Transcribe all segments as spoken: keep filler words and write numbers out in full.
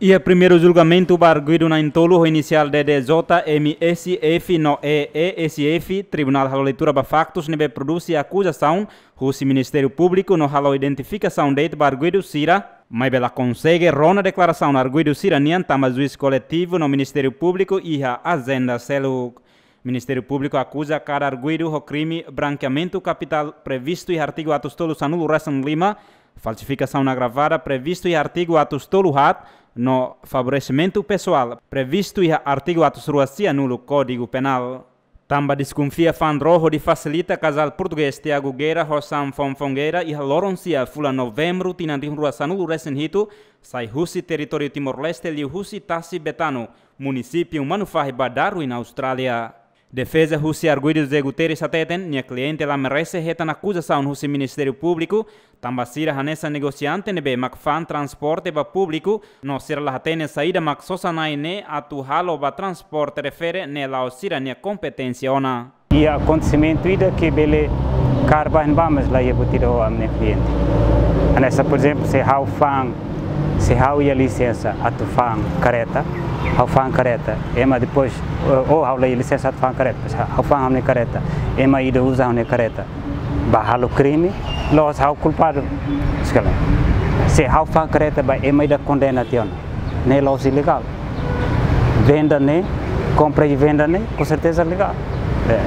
Iha primeiru julgamentu ba arguidu na'in-tolu ho inisiál D D J, M S F no E E S F, tribunál halo leitura ba faktus ne'ebé produzi akuzasaun husi Ministériu Públiku no halo identifikasaun de'it ba arguidu sira, maibé la konsege rona deklarasaun arguidu sira-nian tanba juís koletivu no Ministériu Públiku iha ajenda seluk. Ministériu Públiku akuza kada arguidu ho krime brankeamentu kapitál previstu iha artigu atus tolu sanulu resin lima, falsifikasaun agravada previstu iha artigu atus tolu haat, no favoresimentu pesoál previstu iha artigu atus rua sianulu Kódigu Penál. Tanba deskonfia fa'an ró hodi fasilita kazál portugés Tiago Guerra ho Sam Fonfon Guerra iha loron sia fulan Novembru tinan rihun rua sanulu resin hitu, sai husi territóriu Timor-Leste liuhusi tasi Betano, munisípiu Manufahi ba Darwin, Austrália. Defeza husi arguidu José Guterres hateten, nia kliente la merese hetan akuzasaun husi Ministériu Públiku, tanba sira hanesan negosiante ne'ebé mak fa'an transporte ba públiku, no sira la hatene saida mak sosa-na'in ne'e atu halo ba transporte refere ne'e la'ós sira-nia kompeténsia ona. Iha akontesimentu ida ke bele kaer ba ne'ebá, mas la iha buat ida ho ami-nia kliente. Hanesan, por ezemplu, se ha'u fa'an, se ha'u iha lisensa atu fa'an kareta, ha'u fa'an kareta, ema depois, ou, ou ha'u la iha lisensa atu fa'an kareta, mas ha'u fa'an ha'u-nia kareta, ema ida uza ha'u-nia kareta ba halo krime, la'ós ha'u kulpadu. Sekali. Se ha'u fa'an kareta ba ema ida kondena tiha ona, ne'e la'ós ilegál. Venda ne'e, kompra i venda ne'e, konserteza legál. É.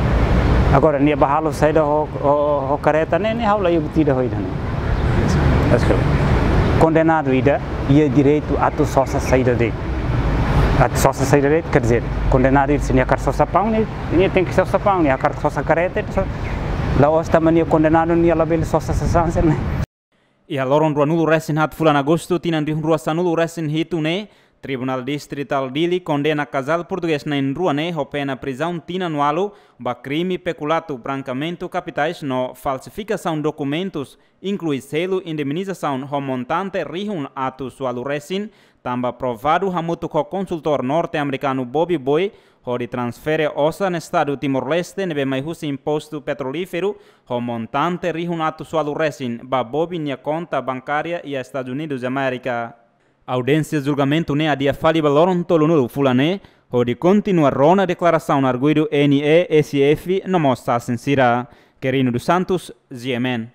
Agora, nia ba halo saida ho, ho, ho kareta ne'e, ne'e ha'u la iha buat ida ho ida ne'e. Mas, kondenadu ida iha direitu atu sosa saida de'it. Atu sosa saida de'it, quer dizer, kondenadu ida se nia hakarak sosa paun, nia, nia tenke sosa paun, nia hakarak sosa kareta, so-, la'ós tanba nia kondenadu, nia labele sosa sasán sira-ne'e. Iha loron ruanulu resin haat fulan Agostu tinan rihun rua sanulu resin hitu ne'e, Tribunál Distritál Dili kondena kazál portugés na'in-rua ne'e ho pena prizaun tinan ualu ba krime pekulato, brankeamentu kapitais no falsifikasaun dokumentus, inklui selu indemnizasaun ho montante rihun atus ualu resin, tanba provadu hamutuk ho konsultór norte-amerikanu Bobby Boy, hodi transfere osan Estadu Timor-Leste ne'ebé mai husi impostu petrolíferu, ho montante rihun atus ualu resin ba Bobby nia konta bankária iha Estadus Unidus Amérika. Audiénsia julgamentu ne'e adia fali ba loron tolunulu fulan ne'e, hodi kontinua rona deklarasaun arguidu N E S F no mós sasin sira. Querino dos Santos, G M N.